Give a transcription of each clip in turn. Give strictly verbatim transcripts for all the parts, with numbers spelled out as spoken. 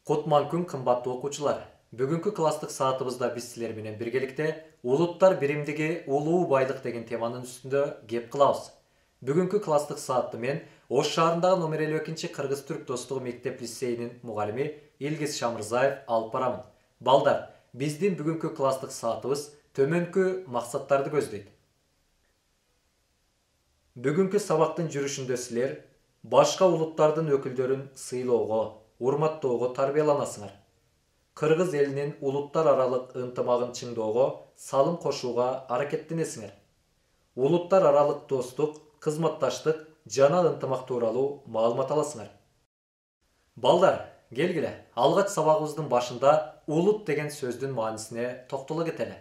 Кутман күн кымбаттуу окуучулар. Бүгүнкү класстык саатыбызда биз силер менен биргеликте улуттар биримдиги улуу байлык деген теманын үстүндө кеп кылабыз. Бүгүнкү класстык саатты мен Ош шаарындагы номер элүү экинчи Кыргыз-Түрк достугу мектеп лицейинин мугалими Илгиз Шамырзаев алып барамын. Балдар, биздин бүгүнкү класстык саатыбыз төмөнкү максаттарды көздөйт. Бүгүнкү сабактын жүрүшүндө силер башка улуттардын өкүлдөрүн сыйлоого, урматтоого тарбияланасыңар. Кыргыз элинин улуттар аралык ынтымагын чыңдоого салым кошууга аракеттенесиңер. Улуттар аралык достук, кызматташтык жана ынтымак тууралуу маалымат аласыңар. Балдар, келгиле, алгач сабагыбыздын башында улут деген сөздүн маанисине токтоло кетели.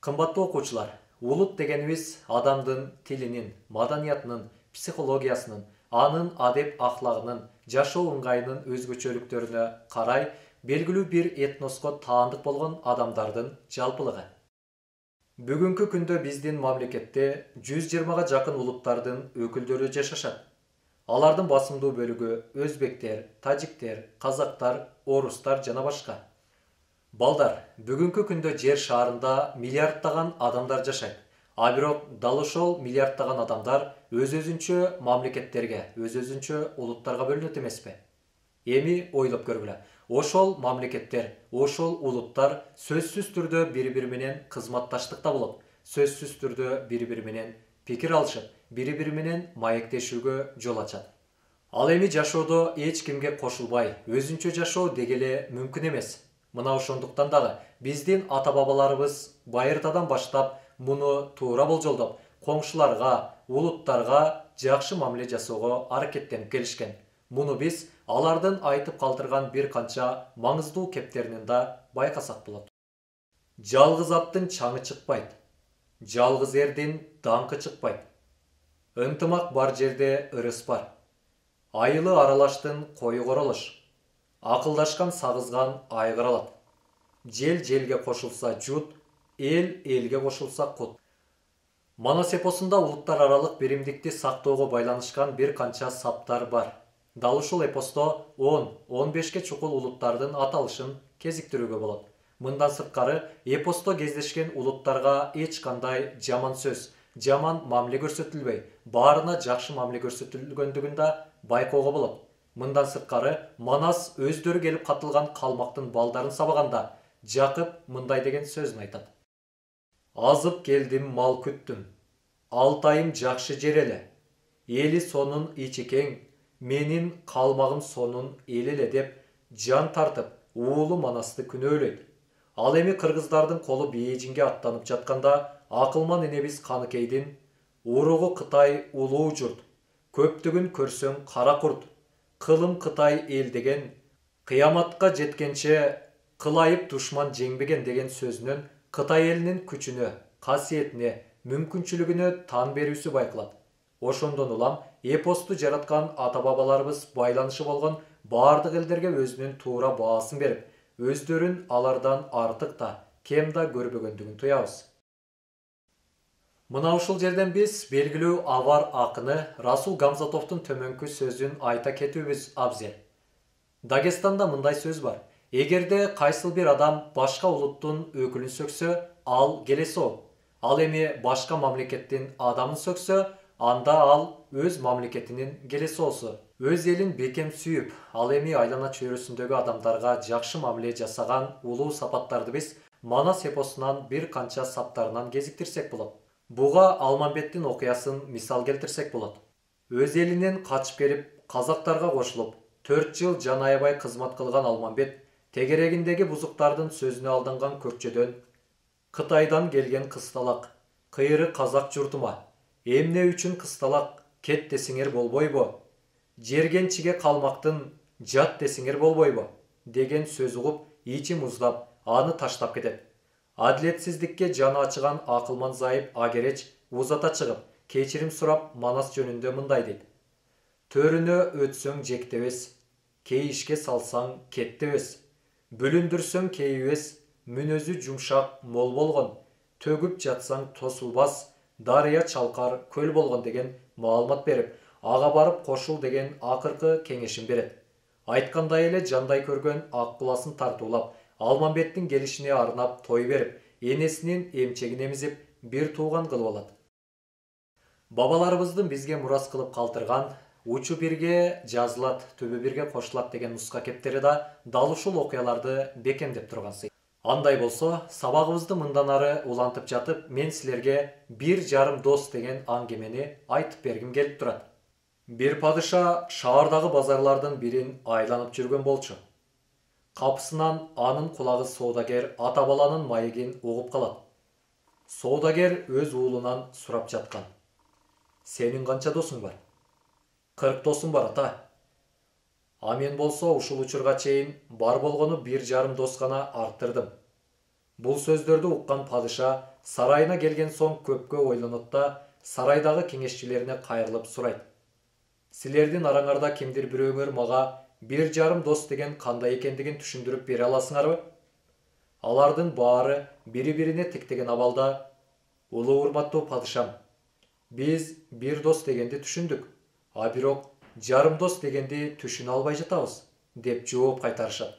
Кымбаттуу окуучулар, улут дегенибиз адамдын тилинин, маданиятынын, психологиясынын, анын адеп ахлагынын, жашоо ыңгайынын өзгөчөлүктөрүнө карай белгилүү бир этноско таандык болгон адамдардын жалпылыгы. Бүгүнкү күндө биздин мамлекетте жүз жыйырмага жакын улуттардын өкүлдөрү жашашат. Алардын басымдуу бөлүгү өзбектер, тажиктер, казактар, орустар жана башка. Балдар, бүгүнкү күндө жер шаарында миллиарддаган адамдар жашайт. А бирок дал ошол миллиарддаган адамдар өз-өзүнчө мамлекеттерге, өз-өзүнчө улуттарга бөлүнөт эмеспи? Эми ойлоп көргүлө. Ошол мамлекеттер, ошол улуттар сөзсүз түрдө бири-бири менен кызматташтыкта болот. Сөзсүз түрдө бири-бири менен пикир алышып, бири-бири менен маектешүүгө жол ачат. Ал эми жашоодо эч кимге кошулбай, өзүнчө жашоо дегеле мүмкүн эмес. Мына ошондуктан дагы биздин ата-бабаларыбыз байыртадан баштап муну туура болжолдоп, коңшуларга, улуттарга жакшы мамиле жасоого аракеттенип келишкен. Муну биз алардын айтып калтырган бир канча маңыздуу кептеринен да байкасак болот. Жалгыз аттын чаңы чыкпайт. Жалгыз эрдин даңкы чыкпайт. Ынтымак бар жерде ырыс бар. Айылы аралаштын кою королош. Акылдашкан сагызган айгыр алат. Жел желге кошулса жут, эл элге кошулса кут. Манас эпосунда улуттар аралык биримдикти сактоого байланышкан бир канча саптар бар. Дал ушул эпосто он он бешке чукул улуттардын аталышын кезиктирүүгө болот. Мындан сырткары эпосто кездешкен улуттарга эч кандай жаман сөз, жаман мамиле көрсөтүлбөй, баарына жакшы мамиле көрсөтүлгөндүгүн да байкоого болот. Мындан сырткары Манас өздөрү келип катылган калмактын балдарын сабаганда Жакып мындай деген сөзүн айтат. Азып келдим, мал күттүм. Алтайым жакшы жер эле. Эли сонун ичи кең, менин калмагым сонун эл эле деп жан тартып, уулу Манасты күнөөлөйт. Ал эми кыргыздардын колу Бейжиңге аттанып жатканда акылман энебиз Каныкейдин уругу Кытай улуу журт, көптүгүн көрсөң кара курт, кылым Кытай эл деген, кыяматка жеткенче кылайып душман жеңбеген деген сөзүнөн Кытай элинин күчүнө, касиетине, мүмкүнчүлүгүнө тан берүүсү байкалат. Ошондон улам эпосту жараткан ата-бабаларыбыз байланышы болгон баардык элдерге өзүнүн туура баасын берип, өздөрүн алардан артык да, кем да көрбөгөндүгүн туябыз. Мына ушул жерден биз белгилүү авар акыны Расул Гамзатовдун төмөнкү сөзүн айта кетүүбүз абзел. Дагестанда мындай сөз бар. Эгерде кайсыл бир адам башка улуттун өкүлүн сөксө, ал келесоо. Ал эми башка мамлекеттин адамын сөксө, анда ал өз мамлекетинин келесоосу. Өз элин бекем сүйүп, ал эми айлана чөйрөсүндөгү адамдарга жакшы мамиле жасаган улуу сапаттарды биз Манас эпосунан бир канча саптарынан кезиктирсек болот. Буга Алмамбеттин окуясын мисал келтирсек болот. Өз элинен качып келип, казактарга кошулуп, төрт жыл жан аябай кызмат кылган Алмамбет тегерегиндеги бузуктардын сөзүнө алданган көкчөдөн Кытайдан келген кысталак, кыйры казак журтума, эмне үчүн кысталак, кет десиңер болбойбу? Жергенчиге калмактын жат десиңер болбойбу? Деген сөз угуп, ичи муздап, аны таштап кетет. Адилетсиздикке жаны ачыган акылман зайып Агереч узата чыгып, кечирим сурап Манас жөнүндө мындай дейт. Төрүнө өтсөң жектебес, кейишке салсаң кеттебес. Бүлүндүрсөң кейибес, мүнөзү жумшак мол болгон, төгүп жатсаң тосулбас, дарыя чалкар көл болгон деген маалымат берип, ага барып кошул деген акыркы кеңешин берет. Айткандай эле жандай көргөн ак куласын тартуулап, Алмамбеттин келишине арнап той берип, энесинин эмчегин эмизип, бир тууган кылып алат. Бабаларыбыздын бизге мурас кылып калтырган учу бирге жазылат, түбү бирге кошулат деген нуска кептери да дал ушул окуяларды бекемдеп турган сый. Андай болсо, сабагыбызды мындан ары улантып жатып, мен силерге бир жарым дос деген аңгемени айтып бергим келип турат. Бир падыша шаардагы базарлардын бирин айланып жүргөн болчу. Капысынан анын кулагы соодагер ата баланын маегин угуп калат. Соодагер өз уулунан сурап жаткан. Сенин канча досуң бар? Кырк досум бар, ата. А мен болсо ушул учурга чейин бар болгону бир жарым дос гана арттырдым. Бул сөздөрдү уккан падыша сарайына келген соң көпкө ойлонот да сарайдагы кеңешчилерине кайрылып сурайт. Силердин араңарда кимдир бирөөңөр мага бир жарым дос деген кандай экендигин түшүндүрүп бере аласыңарбы? Алардын баары бири-бирине тиктеген абалда, улуу урматтуу падышам, биз бир дос дегенди түшүндүк, а бирок жарым дос дегенди түшүнө албай жатабыз, деп жооп кайтарышат.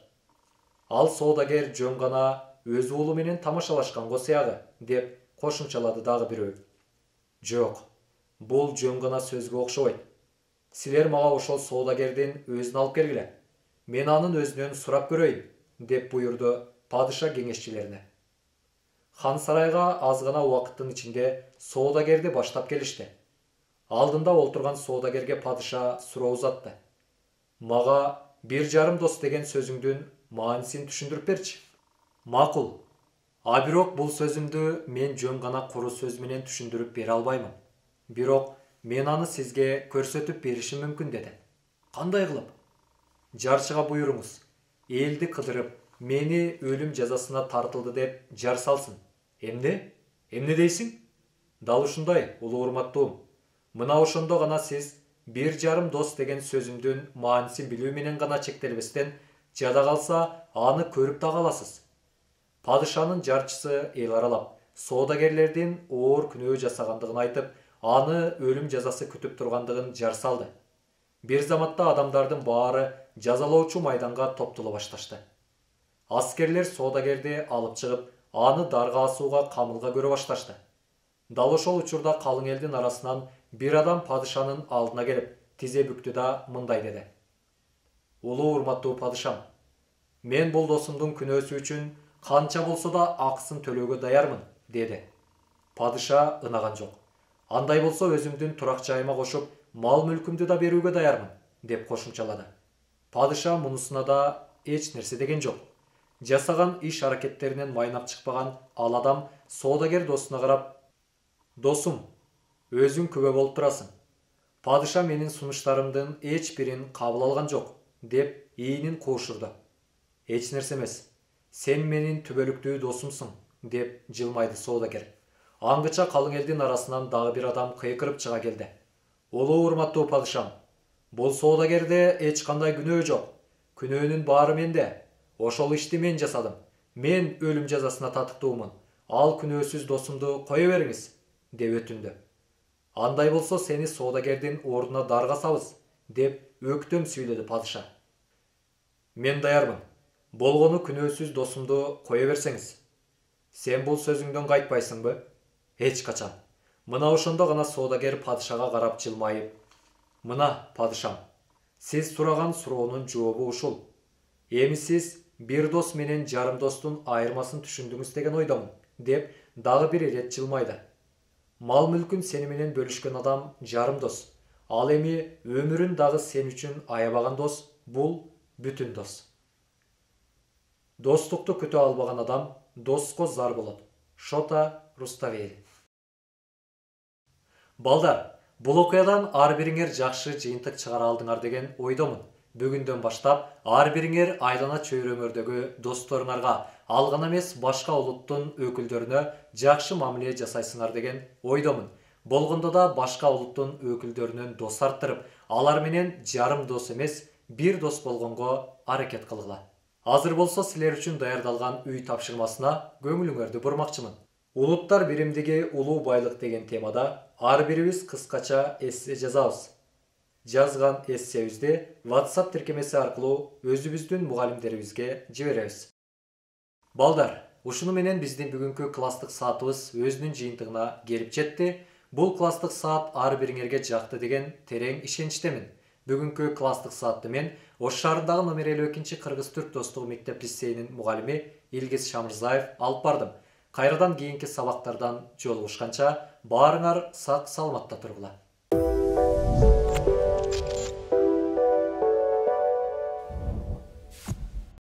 Ал соодагер жөн гана өз уулу менен тамашалашканго сыягы, деп кошумчалады дагы бирөө. Жок, бул жөн гана сөзгө окшобойт. Силер мага ошол соодагердин өзүн алып келгиле. Мен анын өзүнөн сурап көрөйүн, деп буйрду падыша кеңешчилерине. Хан сарайга аз гана убакыттын ичинде соодагерди баштап келишти. Алдында олтурган соодагерге падыша суроо узатты. Мага бир жарым дос деген сөзүңдүн маанисин түшүндүрүп берчи. Макул. А бирок бул сөзүмдү мен жөн гана куру сөз менен түшүндүрүп бере албаймын. Бирок мен аны сизге көрсөтүп беришим мүмкүн, деди. Кандай кылып? Жарчыга буйруңуз, элди кыдырып, мени өлүм жазасына тартылды деп жар салсын. Эмне? Эмне дейсиң? Дал ушундай, улуу урматтуум. Мына ошондо гана сиз бир жарым дос деген сөзүмдүн маанисин билүү менен гана чектелбестен, жада калса аны көрүп да каласыз. Падышанын жарчысы эл аралап, соодагерлердин оор күнөө жасагандыгын айтып, аны өлүм жазасы күтүп тургандыгын жар салды. Бир заматта адамдардын баары жазалоочу майданга топтоло башташты. Аскерлер соодагерди алып чыгып, аны дарга асууга камылга көрө башташты. Дал ошол учурда калың элдин арасынан бир адам падышанын алдына келип, тизе бүктү да мындай деди. Улуу урматтуу падышам, мен бул досумдун күнөөсү үчүн канча болсо да акысын төлөөгө даярмын, деди. Падыша ынаган жок. Андай болсо өзүмдүн турак жайыма кошуп, мал мүлкүмдү да берүүгө даярмын, деп кошумчалады. Падыша мунусуна да эч нерсе деген жок. Жасаган иш аракеттеринен майнап чыкпаган ал адам соодагер досуна карап, досум, өзүң күбө болуп турасың. Падыша менин сунуштарымдын эч бирин кабыл алган жок, деп ийинин куушурду. Эч нерсе эмес, сен менин түбөлүктүү досумсуң, деп жылмайды соодагер. Аңгыча калың элдин арасынан дагы бир адам кыйкырып чыга келди. Улуу урматтуу падышам, бул соодагерде эч кандай күнөө жок. Күнөөнүн баары менде. Ошол ишти мен жасадым. Мен өлүм жазасына татыктуумун. Ал күнөөсүз досумду кое бериңиз, деп өтүндү. Андай болсо сени соодагердин ордуна даргасабыз, деп өктөм сүйлөдү падыша. Мен даярмын. Болгону күнөөсүз досумду кое берсеңиз. Сен бул сөзүңдөн кайтпайсыңбы? Эч качан. Мына ошондо гана соодагер падышага карап жылмайып, мына падышам, сиз сураган суроонун жообу ушул. Эми сиз бир дос менен жарым достун айырмасын түшүндүңүз деген ойдомун, деп дагы бир ирет жылмайды. Мал мүлкүн сени менен бөлүшкөн адам жарым дос. Ал эми өмүрүн дагы сен үчүн аябаган дос, бул бүтүн дос. Достукту күтө албаган адам доско зар болот. Шота Руставели. Балдар, бул окуядан ар бириңер жакшы жыйынтык чыгара алдыңар деген ойдомун. Бүгүндөн баштап ар бириңер айлана чөйрөңөрдөгү досторуңарга, ал гана эмес башка улуттун өкүлдөрүнө жакшы мамиле жасайсыңар деген ойдомун. Болгондо да башка улуттун өкүлдөрүнөн дос арттырып, алар менен жарым дос эмес, бир дос болгонго аракет кылгыла. Азыр болсо силер үчүн даярдалган үй тапшырмасына көңүлүңөрдү бурмакчымын. Улуттар биримдиги улуу байлык деген темада ар бирибиз кыскача эссе жазабыз. жазган эссебизди WhatsApp тиркемеси аркылуу өзүбүздүн мугалимдерибизге жиберебиз. Балдар, ушуну менен биздин бүгүнкү класстык саатыбыз өзүнүн жыйынтыгына келип жетти. Бул класстык саат ар бириңерге жакты деген терең ишеничтемин. Бүгүнкү класстык саатты мен Ош шаарындагы номер элүү экинчи Кыргыз-Түрк достугу мектеп лицейинин мугалими Илгиз Шамырзаев алып бардым. Кайрадан кийинки сабактардан жолугушканча баарыңар сак саламатта тургула.